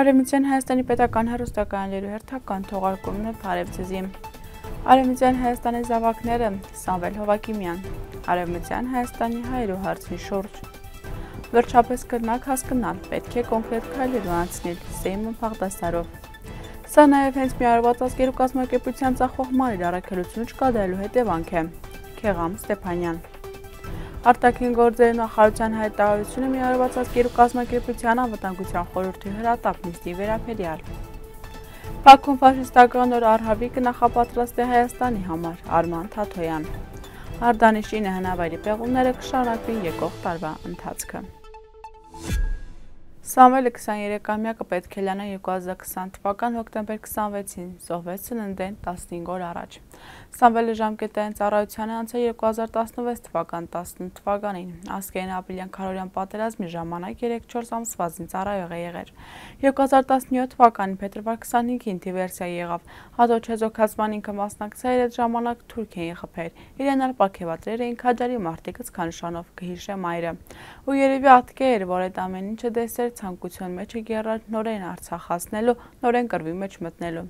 Արևմտյան Հայաստանի պետական հեռուստակայաններու հերթական թողարկումն է Փարեվձեզի։ Արևմտյան Հայաստանի զավակները Սամվել Հովակիմյան։ Արևմտյան Հայաստանի հայերու հարցի շուրջ։ Վերջապես կրնակ հասկանալ, պետք է կոնկրետ քայլեր անցնել Սեյմոն Բաղդասարով։ Սա նաև հենց միավորված ազգերու կազմակերպության ծախող մանր առաքելություն չկատարելու հետևանք է։ Քեղամ Ստեփանյան։ Արտաքին գործերի նախարարության հայտարարությունը միավորված ազգերու կազմակերպության անվտանգության խորհրդի հրատապ նիստի վերաբերյալ։ Բաքուն ֆաշիստական օր առհավիկը նախապատրաստ է Հայաստանի համար, Արման Թաթոյան։ Արտանիշինը հնավայրի պեղումները կշարունակվին եկող տարվա ընթացքը։ Սամվելը 23-ամյակը պետք է լանա 2020 թվական հոկտեմբեր 26-ին, զոհվեց ծննդեն 15 օր առաջ։ Սամվելը ժամկետային ծառայության է անցել 2016 թվական 18 թվականին, ազգային ապրիլյան քարորյան պատերազմի ժամանակ 3-4 ամսվա ծառայող է եղել։ 2017 թվականին փետրվար 25-ին դիվերսիա եղավ, հատոչ հեզոքացման ինքը մասնակցել այդ ժամանակ Թուրքիային խփեր, իրեն ալ պարգևատրել էին քաջարի մարտիկը ցանշանով կհիշե մայրը։ Ու երևի ատկե էր, որ այդ ամեն ինչը դեսեր ցանկություն մեջ է գերար նորեն Արցախ հասնելու, նորեն կռվի մեջ մտնելու։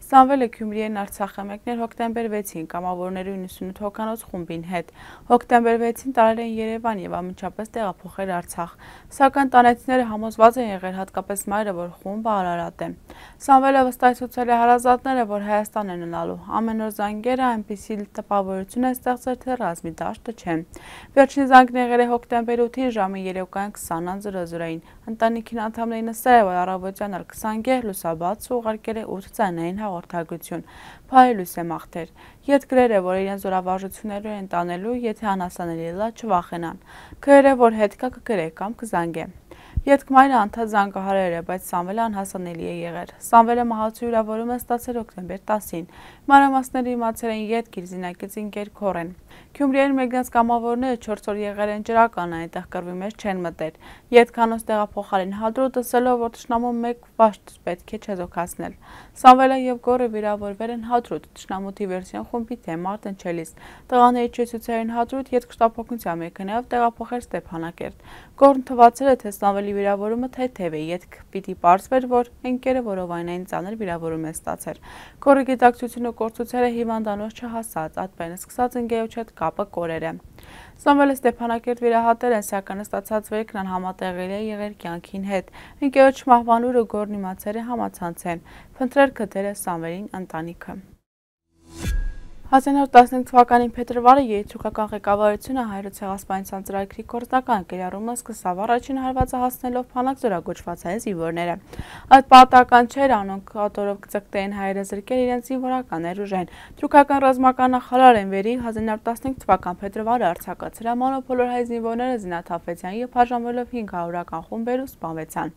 Սամվելը Գյումրիයෙන් Արցախ է մեկնել հոկտեմբեր 6-ին կամավորների 98 հոգանոց խումբին հետ։ Հոկտեմբեր 6-ին տարել են Երևան եւ ամենչապես տեղափոխել Արցախ։ Սակայն տանեցիները համոզված են եղել, հատկապես մայրը, որ խումբը Արարատ է։ Սամվելը վստահեցուցել է հարազատները, որ Հայաստան են ունալու։ Ամեն օր զանգերը այնպիսի տպավորություն է ստեղծել, թե ռազմի դաշտը չէ։ Վերջին զանգն եղել է հոկտեմբեր 8-ին ժամը 3:20-ին։ Ընտանիքին անդամներին նստել է, որ առավոտյան 20 լուսաբաց ուղարկել է 8 ձայնային հաղորդագրություն, փայլուս է մաղթեր։ Ետ գրեր է, որ իրեն զորավարժություններով են տանելու, եթե անհասանելի լա չվախենան։ Գրեր է, որ հետ կա կգրե կամ կզանգե։ Ետքմայրը անդադ զանգահարել է, բայց Սամվելը անհասանելի է եղել։ Սամվելը մահացու վիրավորում է ստացել հոկտեմբեր 10-ին։ Մանրամասները իմացել են ետք իր զինակից ինկեր քորեն։ Գյումրիයෙන් մեկնած կամավորները 4 օր եղել են ջրական, այնտեղ կռվի մեջ չեն մտել։ Ետքանոց տեղափոխել են հադրուտ, ասելով, որ թշնամու մեկ վաշտ պետք է չեզոքացնել։ Սամվելը եւ Գորը վիրավորվել են հադրուտ, թշնամու դիվերսիոն խումբի թեմ Արտընչելիս։ Տղաների չեցուցային հադրուտ ետք շտապօգնության մեքենայով տեղափոխել Ստեփանակերտ։ Գորն թվացել է, թե Սամվելի վիրավորումը թեթև է, ետք պիտի պարզվեր, որ ընկերը որովայնային ծանր վիրավորում է ստացել։ Գորի գիտակցությունը կորցուցել է հիվանդանոց չհասած, ատպեն սկսած ընկերոջ հետ կապը կորել է։ Սամվելը Ստեփանակերտ վիրահատել են, սակայն ստացած վերքն անհամատեղելի է եղել կյանքին հետ։ Ընկերոջ մահվան լուրը Գորն իմացել է համացանցեն։ Փնտրել գտել է Սամվելին ընտանիքը։ 1915 թվականին փետրվարը երիտուրքական ղեկավարությունը հայոց ցեղասպանության ծրագրի գործնական կիրառումը սկսավ առաջին հարվածը հասնելով փանակ զորագոչված հայ զինվորները։ Այդ պատահական չէր, անոնք ատորով կծկտեին հայերը զրկել իրենց զինվորական ներուժեն։ Թուրքական ռազմական նախարար Էնվերի 1915 թվական փետրվարը արձակացրել մոնոպոլոր հայ զինվորները զինաթափվեցան եւ բաժանվելով 500-ական խումբերով սպանվեցան։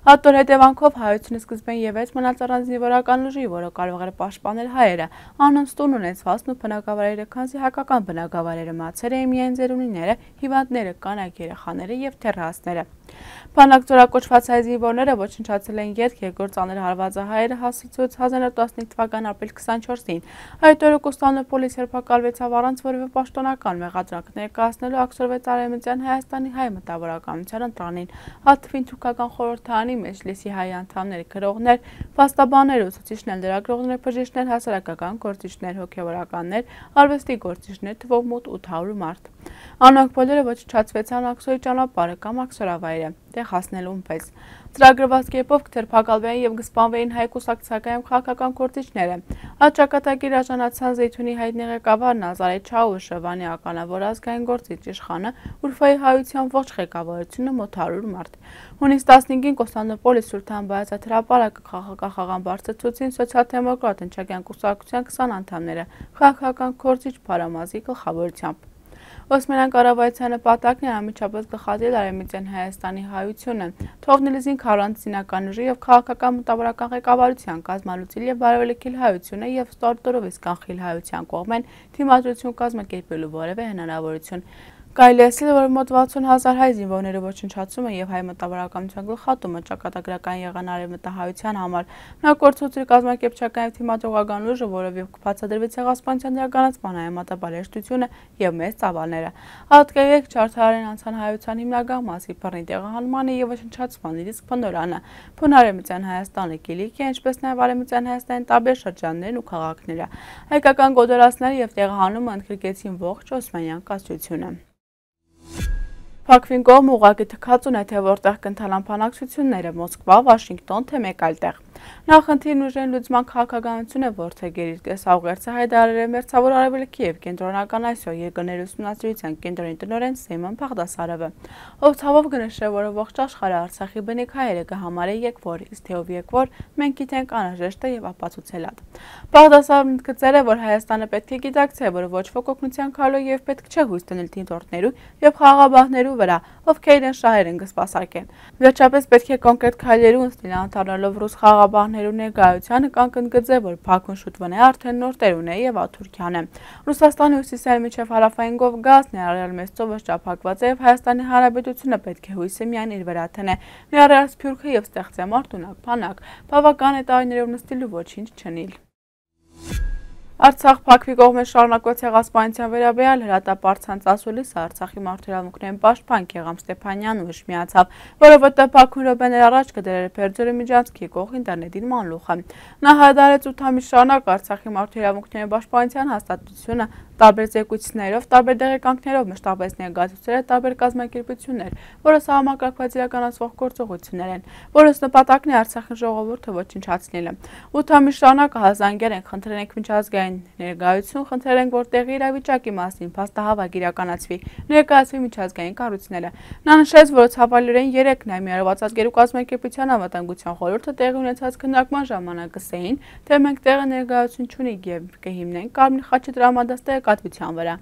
Ատոր հետևանքով հայությունը սկզբեն ևեթ մնաց առանց զինվորական ուժի, որը կարող էր պաշտպանել հայերը։ Անոնց տուն ունեցված ու բնակավայրերը, քանզի հայկական բնակավայրերը մացել էին միայն ծերունիները, հիվանդները, կանայք, երեխաները եւ թեռասները։ Փանակ զորակոչված հայ զինվորները ոչնչացել են ետք երկրորդ ծանր հարվածը հայերը հասցրեց 1915 թվական ապրիլ 24-ին։ Այդ օրը Կոստանդնուպոլիս հերբակալվեցավ առանց որևէ պաշտոնական մեղադրանք ներկայացնելու աքսորվեց Արևմտյան Հայաստանի հայ մտավորականության ընտրանին, հատվին թուրքական խորհրդարանի մեջլիսի հայ անդամներ, գրողներ, փաստաբաններ, ուսուցիչներ, լրագրողներ, բժիշկներ, հասարակական գործիչներ, հոգևորականներ, արվեստի գործիչներ, թվով մոտ 800 մարդ։ Անոնք բոլորը ոչնչացվեցան աքսորի ճանապարհը կամ աքսորավայրը, տեղ հասնելուն պես։ Ծրագրված կերպով կթերփակալվեին եւ կսպանվեին հայ կուսակցական քաղաքական գործիչները։ Այդ ճակատագիր արժանացան Զեյթունի հայտնի ղեկավար Նազարեթ Չաուշը, Վանի ականավոր ազգային գործիչ իշխանը, Ուրֆայի հայության ողջ ղեկավարությունը մոտ 100 մարդ։ Հունիս 15-ին Կոստանդնուպոլիս Սուլթան Բայազեդ հրապարակը քաղաքական բարձրացուցին սոցիալ-դեմոկրատ ընչակյան կուսակցության 20 անդամները, քաղաքական գործիչ Փարամազի գլխավորությամբ։ Օսմանյան կառավարության նպատակն է անմիջապես գլխատել Արևմտյան Հայաստանի հայությունը, թողնել զինք առանց զինական ուժի եւ քաղաքական մտավորական ղեկավարության, կազմալուծել եւ բարևելքել հայությունը եւ ստարտորով իսկ կանխել հայության կողմեն դիմադրություն կազմակերպելու որևէ հնարավորություն։ Կարելի է ասել, որ մոտ 60,000 հայ զինվորների ոչնչացումը եւ հայ մտավորականության գլխատումը ճակատագրական եղան արևմտահայության համար։ Նա կորցրել կազմակերպչական եւ թիմադրողական ուժը, որով եւ բացադրվեց ցեղասպանության իրականացման հայմատաբարեշտությունը եւ մեծ ծավալները։ Հատկերեք չարթարեն անցան հայության հիմնական մասի բռնի տեղահանմանը եւ ոչնչացման իսկ փնորանը։ Փունարեմության Հայաստանը Կիլիկիա, ինչպես նաեւ Արեմության Հայաստանի տարբեր շրջաններն ու քաղաքները։ Հայկական գոդորացները եւ տեղահանումը ընդգրկեցին ողջ Օսմանյան կայսրությունը։ Փակվին կողմ ուղղակի թքած ունե, թե որտեղ կընթանան բանակցությունները Մոսկվա, Վաշինգտոն, թե մեկ այլ տեղ։ Նախնդիրն ուժեն լուծման քաղաքականություն է որդեգեր իր տեսաուղերձը հայտարարել Մերձավոր Արևելքի եւ Կենտրոնական Ասիա երկրների ուսումնասիրության կենտրոնի տնօրեն Սեյմոն Բաղդասարովը, ով ցավով կնշել, որ ողջ աշխարհը Արցախի բնիկ հայերը կհամարի եկվոր, իսկ թե ով եկվոր, մենք գիտենք անհրաժեշտ է եւ ապացուցել է։ Բաղդասարովն ընդգծել է, որ Հայաստանը պետք է գիտակցի, որ ոչ ոք օգնության քալու եւ պետք չէ հույս դնել դիտորդներու եւ խաղաղաբահներու վրա, ովքեր իրեն շահեր են կսպասարկեն։ Վերջապես պետք է կոնկրետ քայլերու ընթացքին անդառնալով ռուս խաղաղաբահներու ներկայությանը կան կընդգծել, որ Բաքուն շուտ վնե արդեն նոր տերուն է եւ Թուրքիան է։ Ռուսաստանի հյուսիսային միջև հարավային Կովկաս ներառյալ մեծ ծովը շրջափակված է եւ Հայաստանի Հանրապետությունը պետք է հույսը միայն իր վրա տնե, ներառյալ Սփյուռքը եւ ստեղծե մարտունակ բանակ, բավական է տարիներով նստելու ոչինչ չնիլ։ Արցախ փակվի կողմը շարունակված ցեղասպանության վերաբերյալ հրատապարծանց ասուլիս Արցախի մարդու պաշտպան Գեգամ Ստեփանյանն ուժ միացավ, որովհետև Բաքուն րոպեներ առաջ կդրել Փերձորի միջանցքի կողմ ինտերնետին մանլուխը։ Նա հայտարարեց 8 ամիս շարունակ Արցախի մարդու պաշտպանության հաստատությունը տարբեր զեկույցներով, տարբեր դեղեկանքներով մշտապես ներկայացուցել է տարբեր կազմակերպություններ, որը համակարգված իրականացվող գործողություններ են, որոնց նպատակն է Արցախի ժողովուրդը ոչնչացնելը։ 8 ամիս շարունակ հազանգեր են, խնդրել ենք միջազգային ներկայություն, խնդրել ենք, որ տեղի իրավիճակի մասին փաստահավաք իրականացվի, ներկայացվի միջազգային կառույցները։ Նա նշեց, որ ցավալիորեն 3 նայմիարված ազգերու կազմակերպության անվտանգության խորհուրդը տեղի ունեցած քննարկման ժամանակ ասեին, թե մենք տեղը ներկայություն չունենք եւ կհիմնենք Կարմիր խաչի տրամադաստի կատվության վրա։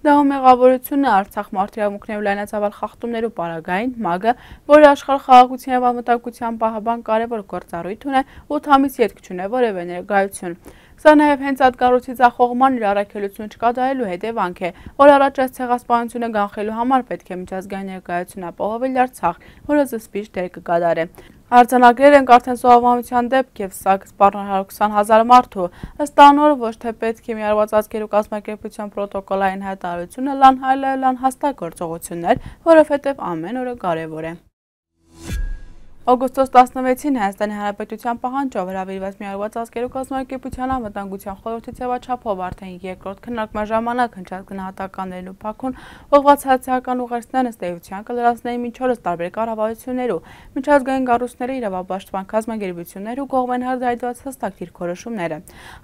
Դա մեղավորությունը Արցախ մարդու լայնածավալ խախտումներու պարագային ՄԱԳ-ը, որը աշխարհ խաղաղության եւ անվտանգության պահապան կարևոր գործառույթ ունի, 8 ամիս ետք չունի որևէ ներկայություն։ Սա նաև հենց այդ կառույցի ձախողման իր առաքելությունը չկատարելու հետևանք է, որ առաջ այս ցեղասպանությունը կանխելու համար պետք է միջազգային ներկայություն ապահովել Արցախ, որը զսպիչ դեր կկատարի։ Արձանագրել ենք արդեն սովորության դեպք եւ սա կսպառնա 120,000 մարդու, ըստ անոր ոչ թե պետք է միավորված ազգերու կազմակերպության պրոտոկոլային հայտարարությունը լան հայլը լան հաստատ գործողություններ, որովհետեւ ամեն օրը կարեւոր է։ Օգոստոս 16-ին Հայաստանի Հանրապետության պահանջով հրավիրված միավորված ազգերու կազմակերպության անվտանգության խորհրդի ձևաչափով արդեն երկրորդ քննարկման ժամանակ հնչած գնահատականներն ու Բաքուն ուղղված հացիական ուղերձներն ըստ էության կլրացնեին մինչ օրս տարբեր կառավարություններու, միջազգային կառույցների իրավապաշտպան կազմակերպություններու կողմեն հրդեհված հստակ դիրքորոշումները։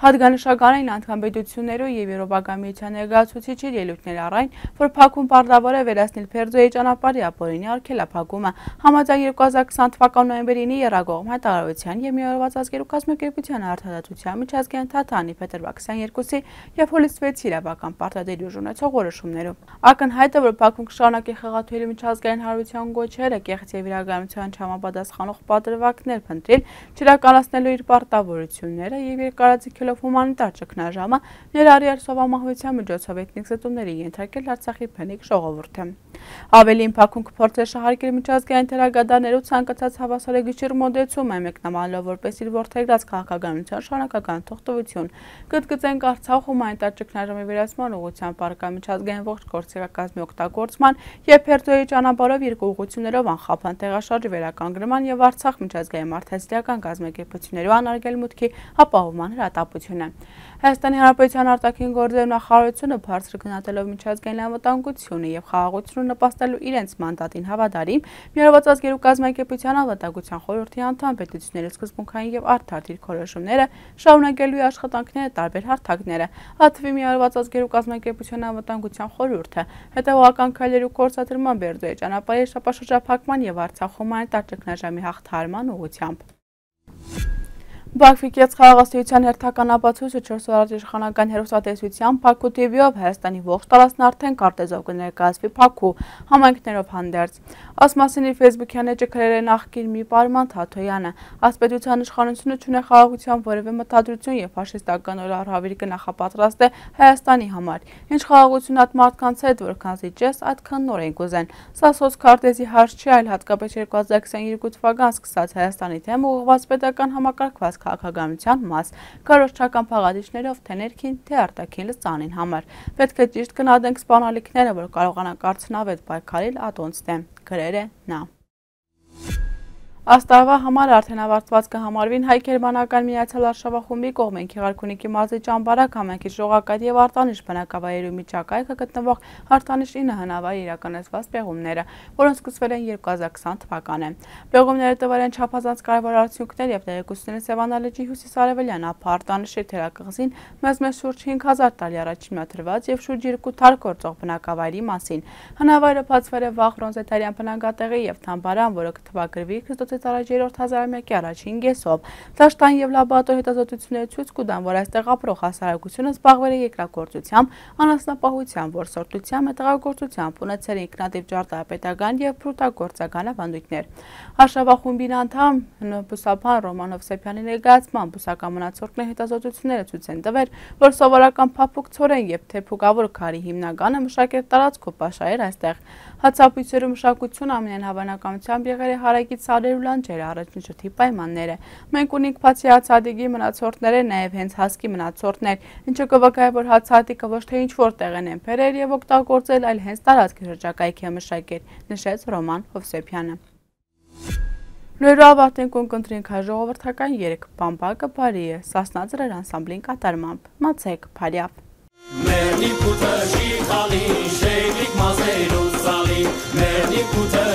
Հատկանշական էին անդամբեդություններու եւ Եվրոպական միության ներկայացուցիչի ելույթներ առայն, որ Բաքուն պարտավոր է վերացնել Փերձոյի ճանապարհի ապօրինի արգելափակումը, համաձայն 2020 նոյեմբերի 9-ի եռագողմ հայտարարության եւ միավորված ազգերու կազմակերպության արդարադատության միջազգային թատրոնի փետրվար 22-ի եւ հուլիս 6-ի իրավական պարտադիր ուժ ունեցող որոշումներով։ Ակնհայտ է, որ Բաքուն կշարունակի խեղաթյուրի միջազգային հարաբերության գոչերը կեղծ եւ իրականության չհամապատասխանող պատրվակներ փնտրել, չիրականացնելու իր պարտավորությունները եւ երկարաձգելով հումանիտար ճգնաժամը, ներառյալ սովամահվության միջոցով էթնիկ զտումների ենթարկել Արցախի բնիկ ժողովուրդը։ Ավելին Բաքուն կփորձի շահարկել միջազգային թերագադարներու ցանկացած հավասարագույշ մոդեցում է մեկնաբանելով որպես իր որդեգրած քաղաքականության շարունակական թողտվություն։ Կընդգծենք Արցախ հումանիտար ճգնաժամի վերացման ուղղությամբ առկա միջազգային ողջ գործիքակազմի օգտագործման եւ Փերձոյի ճանապարհով երկու ուղղություններով անխափան տեղաշարժի վերականգնման եւ Արցախ միջազգային մարդասիրական կազմակերպություններու անարգել մուտքի ապահովման հրատապությունը։ Հայաստանի Հանրապետության արտաքին գործերի նախարարությունը բարձր գնահատելով միջազգային անվտանգությունը եւ խաղաղությունը նպաստելու իրենց մանդատին հավատարիմ, միավորված ազգերու կազմակերպության անվտանգության խորհրդի անդամ պետությունների սկզբունքային եւ արդար դիրքորոշումները շարունակելու աշխատանքները տարբեր հարթակները, հատվի միավորված ազգերու կազմակերպության անվտանգության խորհուրդը, հետեւողական քայլերու կորցատրման Բերձոյի ճանապարհի շրջափակման եւ Արցախ հումանիտար ճգնաժամի հաղթահարման ուղղությամբ։ Բաքվի կեցխաղաղաստիության հերթական ապացույցը 4 օր իշխանական հեռուստատեսությամբ Բաքու TV-ով Հայաստանի ողջ տարածքն արդեն քարտեզով կներկայացվի Բաքու համայնքներով հանդերձ։ Ըստ մասին իր ֆեյսբուքյան էջը գրել է նախկին մի Պարման Թաթոյանը, ըստ պետության իշխանությունը չունի խաղաղության որևէ մտադրություն եւ ֆաշիստական օրահավիրի կնախապատրաստ է Հայաստանի համար։ Ինչ խաղաղություն այդ մարդկանց հետ, որքան զիջես, այդքան նոր են կուզեն։ Սա սոցքարտեզի հարց չի, այլ հատկապես 2022 թվական սկսած Հայաստանի դեմ ուղղված պետական համակարգված քաղաքականության մաս, կարողչական փաղադիչներով թե ներքին, թե արտաքին լծանին համար։ Պետք է ճիշտ գնահատենք սպանալիքները, որ կարողանանք արդյունավետ պայքարել ատոնց դեմ, գրել է նա։ Աստարվա համար արդեն ավարտված կհամարվին Հայ-Գերմանական Միացյալ Արշավախումբի կողմեն Գեղարքունիքի մարզի Ճամբարակ համայնքի Ժողակայթ եւ Արտանիշ բնակավայրերի միջակայքը գտնվող Արտանիշ 9 հնավայրի իրականացված պեղումները, որոնք սկսվել են 2020 թվականին։ Պեղումները տվել են չափազանց կարևոր արդյունքներ եւ տեղեկությունները Սևանա լճի հյուսիսարևելյան ափ Արտանիշի թերակղզին մեզ շուրջ 5000 տարի առաջ մատրված եւ շուրջ 2 թար գործող բնակավայրի մասին։ Հնավայրը բացվել է վաղ բրոնզետարյան բնակատեղի եւ թամբարան, որը կթվագրվի Քրիստոսից առաջ 3-րդ հազարամյակի առաջին կեսով։ Դաշտային եւ լաբորատոր հետազոտությունները ցույց կտան, որ այստեղ ապրող հասարակությունը զբաղվել է երկրագործությամբ, անասնապահությամբ, որսորդությամբ, մետաղագործությամբ, ունեցել է ինքնատիպ ճարտարապետական եւ փրուտագործական ավանդույթներ։ Արշավախումբին անդամ բուսաբան Ռոման Հովսեփյանի ներկայացման բուսական մնացորդների հետազոտությունները ցույց են տվել, որ սովորական փափուկ ցորեն եւ թեփուկավոր քարի հիմնականը մշակել տարածք ու պաշարել այստեղ։ Հացապույցերու մշակությունը ամենայն հավանականությամբ եղել է հարակից սարեր ու լանջերը առաջին շրջանի պայմանները։ Մենք ունենք բացի հացադիկի մնացորդները նաև հենց հասկի մնացորդներ, ինչը կվկայ, որ հացադիկը ոչ թե ինչ-որ տեղեն են բերել եւ օգտագործել, այլ հենց տարածքի շրջակայքի է մշակել, նշեց Ռոման Հովսեփյանը։ Լույրու ավարտենք ունկնդրինք հայ ժողովրդական 3 բամբակը բարի է, Սասնա ձրեր անսամբլին կատարմամբ, մացեք փարյավ։ Մերնի փութը շիխալի, շեյգլիկ մազերու սալի, մերնի փութը